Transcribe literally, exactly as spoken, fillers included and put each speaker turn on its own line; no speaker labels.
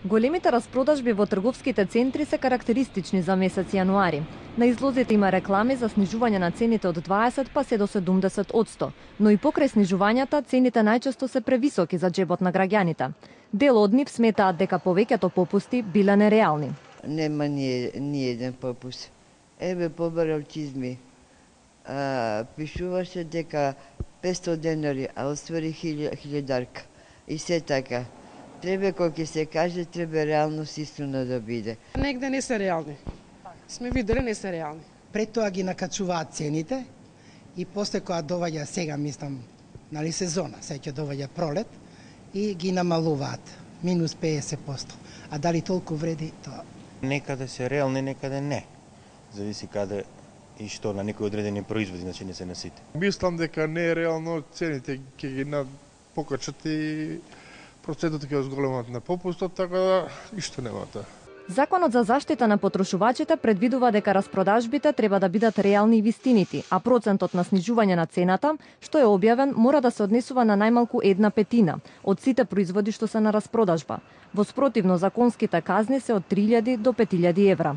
Големите распродажби во трговските центри се карактеристични за месец јануари. На излозите има реклами за снижување на цените од дваесет па се до седумдесет одсто, но и покрај снижувањата цените најчесто се превисоки за џебот на граѓаните. Дел од нив сметаат дека повеќето попусти биле нереални.
Нема ни, ни еден попуст. Еве побарал чизми. А, пишуваше дека петстотини денари, а оствари хилјадарка. И се така. Треба, кој ќе се каже, треба реалност истина да биде.
Негде не се реални. Сме виделе не се реални.
Пред тоа ги накачуваат цените и после кога доваѓа сега, мислам, нали сезона, сега ќе доваѓа пролет и ги намалуваат минус педесет одсто. А дали толку вреди тоа?
Некаде се реални, некаде не. Зависи каде и што на некои одредени производи, значи не се на сите.
Мислам дека не е реално, цените ќе ги покачат и процентот ќе зголемат на попустот, така да ништо нема тоа.
Законот за заштита на потрошувачите предвидува дека распродажбите треба да бидат реални и вистинити, а процентот на снижување на цената, што е објавен, мора да се однесува на најмалку една петина од сите производи што се на распродажба. Во спротивно, законските казни се од три илјади до пет илјади евра.